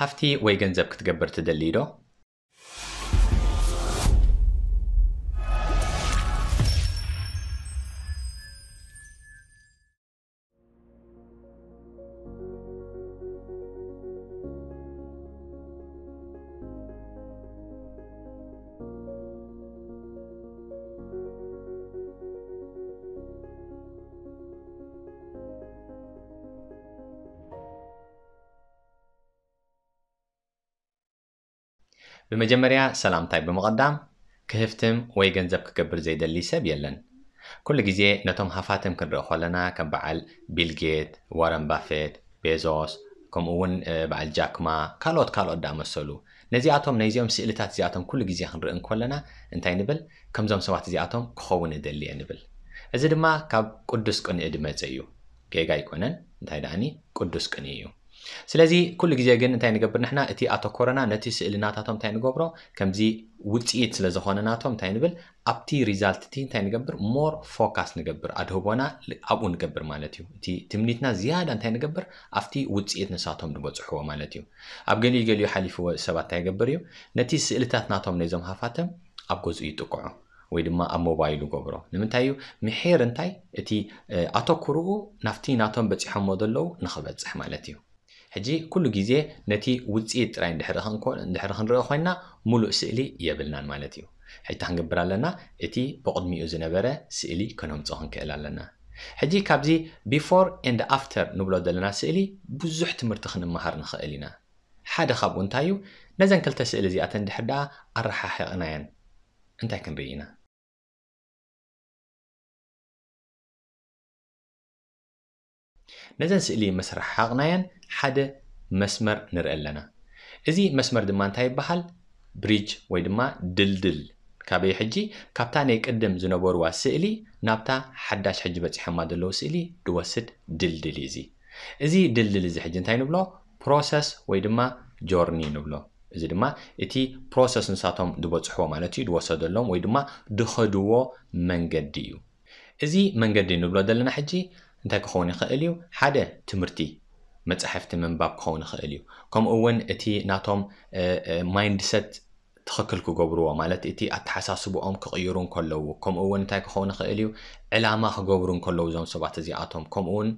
ሃፍቲ ወይ ገንዘብ ክትገብር ትደሊ ዶ? ብመጀመርያ ሰላምታይ ብምቕዳም፣ ክህፍትም ወይ ገንዘብ ክገብር ዘይደሊ ሰብ የለን። ኩሉ ግዜ ነቶም ሃፋትም ክንርኢ ከለና ከም በዓል ቢል ጌት፣ ዋረን ባፌት፣ ቤዞስ፣ ከምኡ እውን በዓል ጃክማ፣ ካልኦት ካልኦት ዳኣመሰሉ፣ ነዚኣቶም ናይዚኦም ስእልታት እዚኣቶም ኩሉ ግዜ ክንርኢ እንከለና እንታይ ንብል? ከምዞም ሰባት እዚኣቶም ክኸውን እደሊ እየ ንብል። እዚ ድማ ካብ ቅዱስ ቅንኢ ዝመጸ እዩ። ጌጋ ኣይኮነን፣ እንታይ ደኣኒ ቅዱስ ቅንኢ እዩ። ስለዚ ኩሉ ግዜ ግን እንታይ ንገብር ንሕና? እቲ ኣተኮረና ነቲ ስእሊ ናታቶም እንታይ ንገብሮ? ከምዚ ውፅኢት ስለ ዝኾነ ናቶም እንታይ ንብል? ኣብቲ ሪዛልት እቲ እንታይ ንገብር? ሞር ፎካስ ንገብር፣ ኣድህቦና ኣብኡ ንገብር ማለት እዩ። እቲ ትምኒትና ዝያዳ እንታይ ንገብር? ኣብቲ ውፅኢት ንሳቶም ንበፅሕዎ ማለት እዩ። ኣብ ገሊኡ ገሊኡ ሓሊፍዎ ሰባት እንታይ ይገብር እዩ? ነቲ ስእልታት ናቶም ነዞም ሃፋትም ኣብ ገዝኡ ይጥቅዖ ወይ ድማ ኣብ ሞባይሉ ገብሮ። ንምንታይ እዩ? ምሒር እንታይ እቲ ኣተኩርኡ ናብቲ ናቶም በፂሖሞ ዘለዉ ንኽበፅሕ ማለት እዩ። ሕጂ ኩሉ ግዜ ነቲ ውፅኢት ጥራይ እንድሕሪ ክንኮ- እንድሕሪ ክንርኢ ኮይንና ሙሉእ ስእሊ የብልናን ማለት እዩ። ሕጂ እንታይ ክንገብር ኣለና? እቲ ብቕድሚኡ ዝነበረ ስእሊ ከነምፅኦ ክንክእል ኣለና። ሕጂ ካብዚ ቢፎር ኤንድ ኣፍተር ንብሎ ዘለና ስእሊ ብዙሕ ትምህርቲ ክንመሃር ንኽእል ኢና። ሓደ ካብኡ እንታይ እዩ? ነዘን ክልተ ስእሊ እዚኣተን ድሕር ደኣ ኣረሓሒቕናየን እንታይ ክንርኢ ኢና? ነዘን ስእሊ ምስ ረሓቕናየን ሓደ መስመር ንርኢ ኣለና። እዚ መስመር ድማ እንታይ ይበሃል? ብሪጅ ወይ ድማ ድልድል። ካበይ ሕጂ? ካብታ ናይ ቅድም ዝነበርዋ ስእሊ ናብታ ሓዳሽ ሕጂ በፂሖማ ዘለዉ ስእሊ ድወስድ ድልድል እዩ እዚ። እዚ ድልድል እዚ ሕጂ እንታይ ንብሎ? ፕሮሰስ ወይ ድማ ጆርኒ ንብሎ። እዚ ድማ እቲ ፕሮሰስ ንሳቶም ድበፅሕዎ ማለት እዩ፣ ድወሰደሎም ወይ ድማ ድኸድዎ መንገዲ እዩ። እዚ መንገዲ ንብሎ ዘለና ሕጂ እንታይ ክኸውን ይኽእል እዩ? ሓደ ትምህርቲ፣ መጻሕፍቲ ምንባብ ክኸውን ይኽእል እዩ። ከምኡ እውን እቲ ናቶም ማይንድሰት ትኽክል ክገብርዎ፣ ማለት እቲ ኣተሓሳስብኦም ክቕይሩ እንከለዉ፣ ከምኡ እውን እንታይ ክኸውን ይኽእል እዩ? ዕላማ ክገብሩ እንከለዉ እዞም ሰባት እዚኣቶም፣ ከምኡ እውን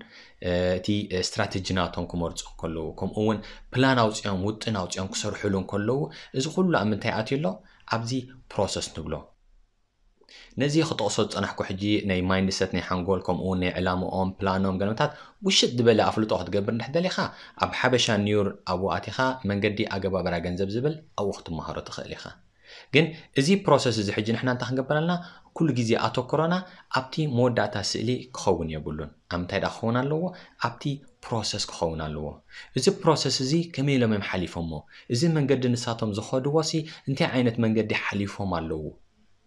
እቲ ስትራተጂ ናቶም ክመርፁ እንከለዉ፣ ከምኡ እውን ፕላን ኣውፅኦም ውጥን ኣውፅኦም ክሰርሕሉ እንከለዉ፣ እዚ ኩሉ ኣብ ምንታይ ኣትዩ ኣሎ? ኣብዚ ፕሮሰስ ንብሎ። ነዚ ክጠቕሶ ዝፀናሕኩ ሕጂ ናይ ማይንድሰት ናይ ሓንጎል ከምኡ እውን ናይ ዕላምኦም ፕላኖም ገለመታት ውሽጥ ዝበለ ኣፍልጦ ክትገብር እንድሕር ደሊኻ ኣብ ሓበሻ ኒውር ኣብኡ ኣቲኻ መንገዲ ኣገባብራ ገንዘብ ዝብል ኣብኡ ክትመሃሮ ትኽእል ኢኻ። ግን እዚ ፕሮሰስ እዚ ሕጂ ንሕና እንታይ ክንገብር ኣለና? ኩሉ ግዜ ኣተኩሮና ኣብቲ መወዳእታ ስእሊ ክኸውን የብሉን። ኣብ ምንታይ ደኣ ክኸውን ኣለዎ? ኣብቲ ፕሮሰስ ክኸውን ኣለዎ። እዚ ፕሮሰስ እዚ ከመይ ኢሎም እዮም ሓሊፎሞ? እዚ መንገዲ ንሳቶም ዝኸድዎ ሲ እንታይ ዓይነት መንገዲ ሓሊፎም ኣለዉ?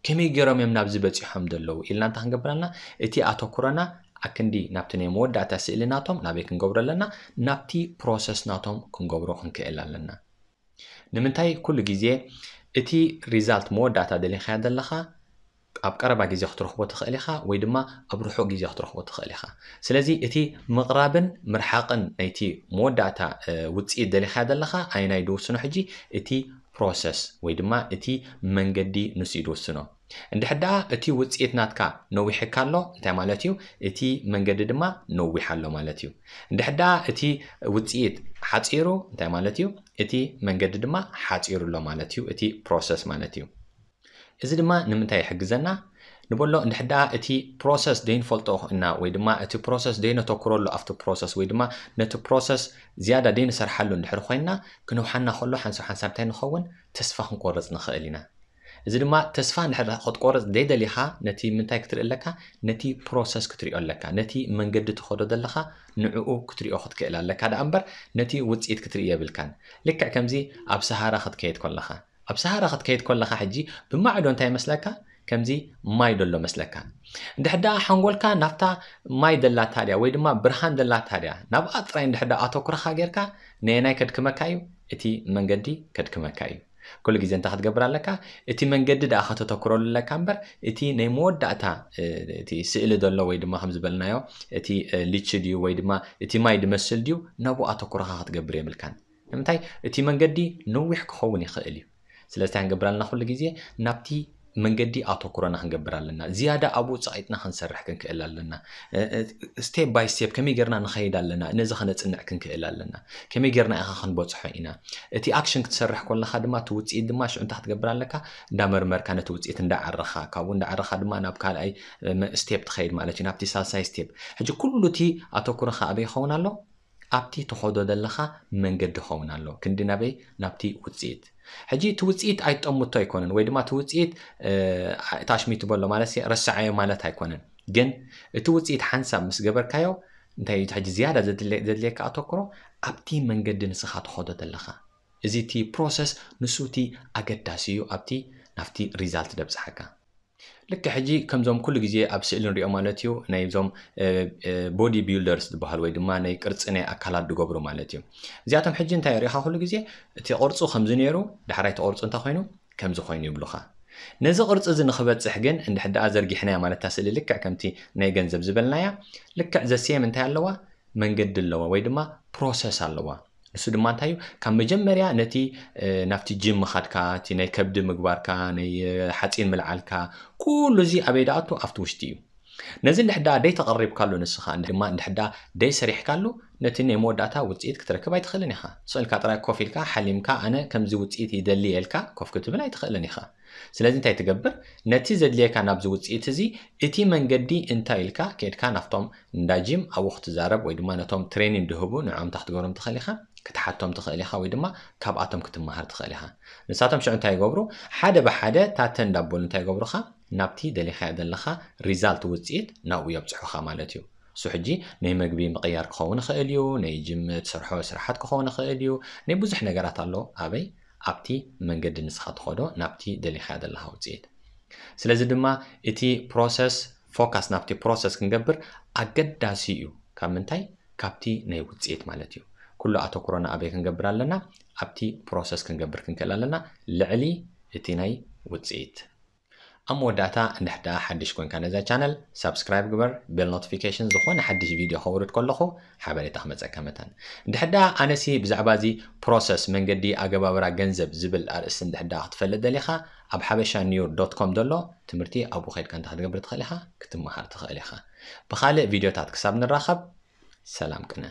ከመይ ገይሮም እዮም ናብዚ በፂሖም ዘለዉ ኢልና እንታይ ክንገብር ኣለና? እቲ ኣተኩሮና ኣክንዲ ናብቲ ናይ መወዳእታ ስእሊ ናቶም ናበይ ክንገብሮ ኣለና? ናብቲ ፕሮሰስ ናቶም ክንገብሮ ክንክእል ኣለና። ንምንታይ? ኩሉ ግዜ እቲ ሪዛልት መወዳእታ ደሊኻዮ ዘለኻ ኣብ ቀረባ ግዜ ክትረኽቦ ትኽእል ኢኻ ወይ ድማ ኣብ ርሑቕ ግዜ ክትረኽቦ ትኽእል ኢኻ። ስለዚ እቲ ምቕራብን ምርሓቕን ናይቲ መወዳእታ ውፅኢት ደሊኻዮ ዘለኻ ኣየናይ ድውስኖ? ሕጂ እቲ ፕሮሰስ ወይ ድማ እቲ መንገዲ ንሱ እዩ ድውስኖ። እንድሕር ደኣ እቲ ውፅኢት ናትካ ነዊሕካ ኣሎ እንታይ ማለት እዩ? እቲ መንገዲ ድማ ነዊሕ ኣሎ ማለት እዩ። እንድሕር ደኣ እቲ ውፅኢት ሓፂሩ እንታይ ማለት እዩ? እቲ መንገዲ ድማ ሓፂሩ ኣሎ ማለት እዩ። እቲ ፕሮሰስ ማለት እዩ። እዚ ድማ ንምንታይ ይሕግዘና? ንበሎ እንድሕር ደኣ እቲ ፕሮሰስ ደይንፈልጦ እና ወይ ድማ እቲ ፕሮሰስ ደይነተኩረሉ ኣብቲ ፕሮሰስ ወይ ድማ ነቲ ፕሮሰስ ዝያዳ ደይንሰርሓሉ እንድሕር ኮይንና ክንውሓና ከሎ ሓንሳብ ሓንሳብ እንታይ ንኸውን? ተስፋ ክንቆርፅ ንኽእል ኢና። እዚ ድማ ተስፋ እንድሕር ክትቆርፅ ዘይደሊኻ ነቲ ምንታይ ክትርኢ ኣለካ? ነቲ ፕሮሰስ ክትሪኦ ኣለካ። ነቲ መንገዲ ትኸዶ ዘለኻ ንዕኡ ክትሪኦ ክትክእል ኣለካ ደኣ እምበር ነቲ ውፅኢት ክትርኢ የብልካን። ልክዕ ከምዚ ኣብ ሰሃራ ክትከይድ ከለኻ ኣብ ሰሃራ ክትከይድ ከለኻ ሕጂ ብማዕዶ እንታይ ይመስለካ? ከምዚ ማይ ደሎ መስለካ። እንድሕር ደኣ ሓንጎልካ ናብታ ማይ ደላታ ድያ ወይ ድማ ብርሃን ደላታ ድያ ናብኣ ጥራይ እንድሕር ደኣ ኣተኩረኻ ጌርካ ነየናይ ከድክመካ እዩ? እቲ መንገዲ ከድክመካ እዩ። ኩሉ ግዜ እንታይ ክትገብር ኣለካ? እቲ መንገዲ ደኣ ከተተኩረሉ ኣለካ እምበር እቲ ናይ መወዳእታ እቲ ስእሊ ዘሎ ወይ ድማ ከም ዝበልናዮ እቲ ልቺ ድዩ ወይ ድማ እቲ ማይ ድመስል ድዩ ናብኡ ኣተኩረኻ ክትገብር የብልካን። ንምንታይ እቲ መንገዲ ነዊሕ ክኸውን ይኽእል እዩ። ስለዚ እንታይ ክንገብር ኣለና? ኩሉ ግዜ ናብቲ መንገዲ ኣተኩሮና ክንገብር ኣለና። ዝያዳ ኣብኡ ጸቒጥና ክንሰርሕ ክንክእል ኣለና። step by step ከመይ ጌርና ንኸይድ ኣለና፣ ነዚ ከነጽንዕ ክንክእል ኣለና። ከመይ ጌርና ኢኻ ክንበጽሖ ኢና። እቲ ኣክሽን ክትሰርሕ ከለኻ ድማ እቲ ውጽኢት ድማ ሽዑ እንታይ ክትገብር ኣለካ? እንዳመርመርካ ነቲ ውጽኢት እንዳዓረኻ፣ ካብኡ እንዳዓረኻ ድማ ናብ ካልኣይ step ትኸይድ ማለት እዩ፣ ናብቲ ሳልሳይ step። ሕጂ ኩሉ እቲ ኣተኩሮኻ ኣበይ ይኸውን ኣሎ? ኣብቲ ትኸዶ ዘለኻ መንገዲ ኸውን ኣሎ። ክንዲ ናበይ? ናብቲ ውጽኢት። ሕጂ እቲ ውጽኢት ኣይትጠምቶ ኣይኮነን፣ ወይ ድማ እቲ ውጽኢት ታሽሚት በሎ ማለት ረስዓዮ ማለት ኣይኮነን። ግን እቲ ውጽኢት ሓንሳብ ምስ ገበርካዮ እንታይ እዩ ሕጂ ዝያዳ ዘድልየካ ኣተኩሮ? ኣብቲ መንገዲ ንስኻ ትኸዶ ዘለኻ። እዚ እቲ ፕሮሰስ ንሱ እቲ ኣገዳሲ እዩ ኣብቲ ናብቲ ሪዛልት ደብጽሓካ። ልክዕ ሕጂ ከምዞም ኩሉ ግዜ ኣብ ስእሊ ንሪኦ ማለት እዩ፣ ናይ ዞም ቦዲ ቢልደርስ ዝበሃል ወይ ድማ ናይ ቅርጺ ናይ ኣካላት ዝገብሩ ማለት እዩ። እዚኣቶም ሕጂ እንታይ ሪኢኻ? ኩሉ ግዜ እቲ ቅርጹ ከምዚ ነይሩ፣ ዳሕራይ እቲ ቅርጹ እንታይ ኮይኑ? ከምዚ ኮይኑ ይብሉኻ። ነዚ ቅርጺ እዚ ንኽበጽሕ ግን እንድሕር ደኣ ዘርጊሕናያ ማለት እታ ስእሊ ልክዕ ከምቲ ናይ ገንዘብ ዝበልናያ ልክዕ ዘሴም እንታይ ኣለዋ? መንገዲ ኣለዋ ወይ ድማ ፕሮሰስ ኣለዋ። ንሱ ድማ እንታይ እዩ? ካብ መጀመርያ ነቲ ናብቲ ጅም ምኻድካ፣ እቲ ናይ ከብዲ ምግባርካ፣ ናይ ሓፂን ምልዓልካ፣ ኩሉ እዚ ኣበይ ደኣቱ? ኣብቲ ውሽጢ እዩ። ነዚ እንድሕዳ ደይ ተቐሪብካሉ ንስኻ ድማ እንድሕዳ ደይ ሰሪሕካሉ ነቲ ናይ መወዳእታ ውፅኢት ክትረክብ ኣይትኽእልን ኢኻ። ስቕ ኢልካ ጥራይ ኮፍ ኢልካ ሓሊምካ ኣነ ከምዚ ውፅኢት ይደሊ ኢልካ ኮፍ ክትብል ኣይትኽእልን ኢኻ። ስለዚ እንታይ ትገብር? ነቲ ዘድልየካ ናብዚ ውፅኢት እዚ እቲ መንገዲ እንታይ ኢልካ ከድካ ናብቶም እንዳ ጂም ኣብኡ ክትዛረብ ወይ ድማ ነቶም ትሬኒንግ ድህቡ ንዕኦም እንታይ ክትገብሮም ትኽእል ኢኻ? ክትሓቶም ትኽእል ኢኻ ወይ ድማ ካብኣቶም ክትመሃር ትኽእል ኢኻ። ንሳቶም ሽዑ እንታይ ይገብሩ? ሓደ ብሓደ ታተ እንዳበሉ እንታይ ይገብሩኻ? ናብቲ ደሊኻዮ ዘለኻ ሪዛልት ውፅኢት ናብኡ የብፅሑኻ ማለት እዩ። እሱ ሕጂ ናይ መግቢ ምቕያር ክኸውን ይኽእል እዩ፣ ናይ ጅም ትሰርሖ ስራሓት ክኸውን ይኽእል እዩ፣ ናይ ብዙሕ ነገራት ኣሎ። ኣበይ? ኣብቲ መንገዲ ንስኻ ትኸዶ ናብቲ ደሊኻዮ ዘለኻ ውፅኢት። ስለዚ ድማ እቲ ፕሮሰስ ፎካስ ናብቲ ፕሮሰስ ክንገብር ኣገዳሲ እዩ። ካብ ምንታይ? ካብቲ ናይ ውፅኢት ማለት እዩ። ኩሉ ኣተኩሮና ኣበይ ክንገብር ኣለና? ኣብቲ ፕሮሰስ ክንገብር ክንክእል ኣለና፣ ልዕሊ እቲ ናይ ውፅኢት። ኣብ መወዳእታ እንድሕዳ ሓድሽ ኮንካ ነዛ ቻነል ሳብስክራይብ ግበር፣ ቤል ኖቲፊኬሽን ዝኾነ ሓድሽ ቪድዮ ከውርድ ከለኹ ሓበሬታ ክመፀካ መታን። እንድሕዳ ኣነሲ ብዛዕባ እዚ ፕሮሰስ መንገዲ ኣገባብራ ገንዘብ ዝብል ኣርእስቲ እንድሕዳ ክትፈልጥ ደሊኻ ኣብ ሓበሻ ኒውር ዶት ኮም ዘሎ ትምህርቲ ኣብኡ ከድካ እንታይ ክትገብር ትኽእል ኢኻ? ክትመሃር ትኽእል ኢኻ። ብኻልእ ቪድዮታት ክሳብ ንራኸብ ሰላም ቅነ።